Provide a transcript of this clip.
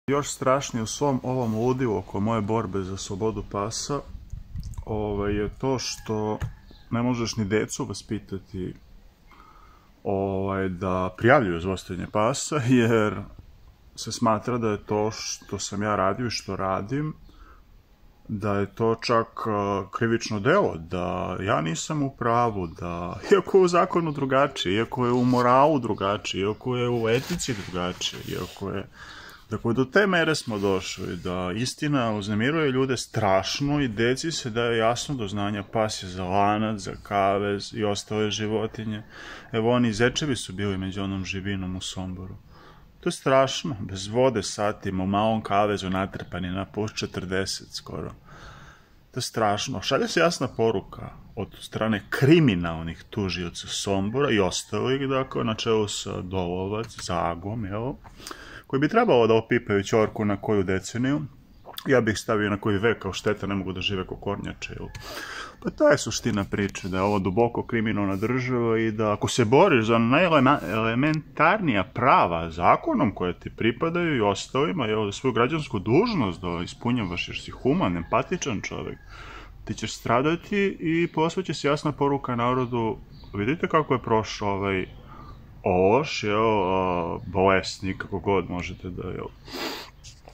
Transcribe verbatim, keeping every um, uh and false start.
Još strašnije u svom ovom ludilu oko moje borbe za slobodu pasa ovaj, je to što ne možeš ni decu vaspitati ovaj, da prijavljuju zlostavljanje pasa, jer se smatra da je to što sam ja radio i što radim, da je to čak uh, krivično delo, da ja nisam u pravu, da iako je u zakonu drugačije, iako je u moralu drugačije, iako je u etici drugačije, iako je... Dakle, do te mere smo došli da istina uznemiruje ljude strašno i deci se daje jasno do znanja pas je za lanac, za kavez i ostale životinje. Evo, oni zečevi su bili među onom živinom u Somboru. To je strašno, bez vode satima, u malom kavezu natrpani na plus četrdeset skoro. To je strašno. Šalje se jasna poruka od strane kriminalnih tužioca Sombora i ostalih, dakle, na čelu sa Dolovac, Zagom, jel? Koji bi trebalo da opipaju ćorku na koju deceniju. Ja bih stavio na koji vek, kao šteta, ne mogu da žive ko kornjače. Jel? Pa ta je suština priče, da je ovo duboko kriminalna država i da ako se boriš za najelementarnija prava zakonom koje ti pripadaju i ostalima, jel, za svoju građansku dužnost da ispunjavaš jer si human, empatičan čovjek, ti ćeš stradati i posveće se jasna poruka narodu, vidite kako je prošao ovaj ološ, jel, bolesnik, kako god možete da, jel,